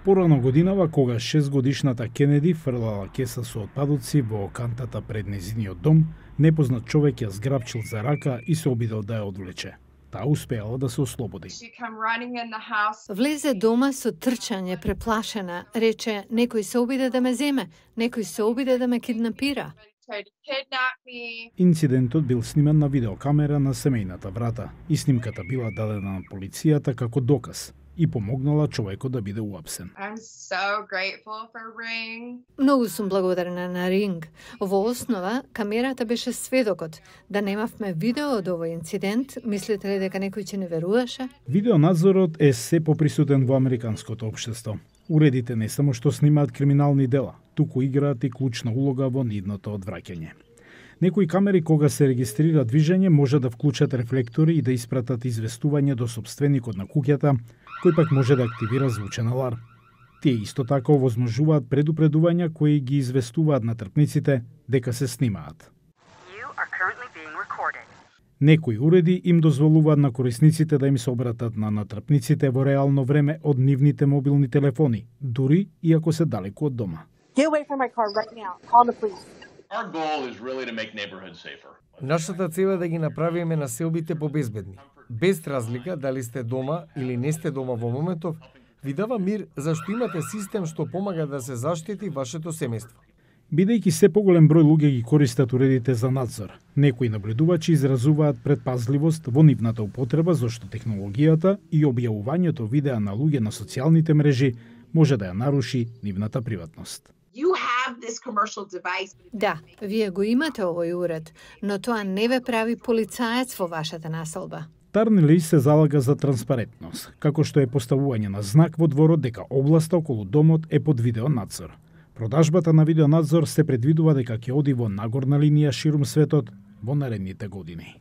Порано годинава, кога 6-годишната Кенеди фрлала кеса со отпадоци во кантата пред нејзиниот дом, непознат човек ја зграбчил за рака и се обидел да ја одвлече. Таа успеала да се ослободи. Влезе дома со трчање, преплашена. Рече, некој се обиде да ме земе, некој се обиде да ме киднапира. Инцидентот бил сниман на видеокамера на семејната врата и снимката била дадена на полицијата како доказ и помогнала човекот да биде уапсен. Многу сум благодарна на Ring. Во основа, камерата беше сведокот. Да немавме видео од овој инцидент, мислите ли дека некој ќе не веруваше? Видеонадзорот е се поприсутен во американското општество. Уредите не само што снимаат криминални дела, туку играат и клучна улога во нивното одвраќање. Некои камери кога се регистрира движење може да вклучат рефлектори и да испратат известување до сопственикот на куќата, кој пак може да активира звучен аларм. Тие исто така овозможуваат предупредувања кои ги известуваат на трпниците дека се снимаат. Некои уреди им дозволуваат на корисниците да им се обратат на натрпниците во реално време од нивните мобилни телефони, дури и ако се далеку од дома. Нашата цел е да ги направиме населбите побезбедни. Без разлика дали сте дома или не сте дома во моментов, ви дава мир зашто имате систем што помага да се заштити вашето семејство. Бидејќи се поголем број луѓе ги користат уредите за надзор, некои наблюдувачи изразуваат предпазливост во нивната употреба зашто технологијата и објавувањето видеа на луѓе на социјалните мрежи може да ја наруши нивната приватност. Да, вие го имате овој уред, но тоа не ве прави полицаец во вашата населба. Тарнели се залага за транспарентност, како што е поставување на знак во дворот дека областа околу домот е под видеонадзор. Продажбата на видеонадзор се предвидува дека ќе оди во нагорна линија ширум светот во наредните години.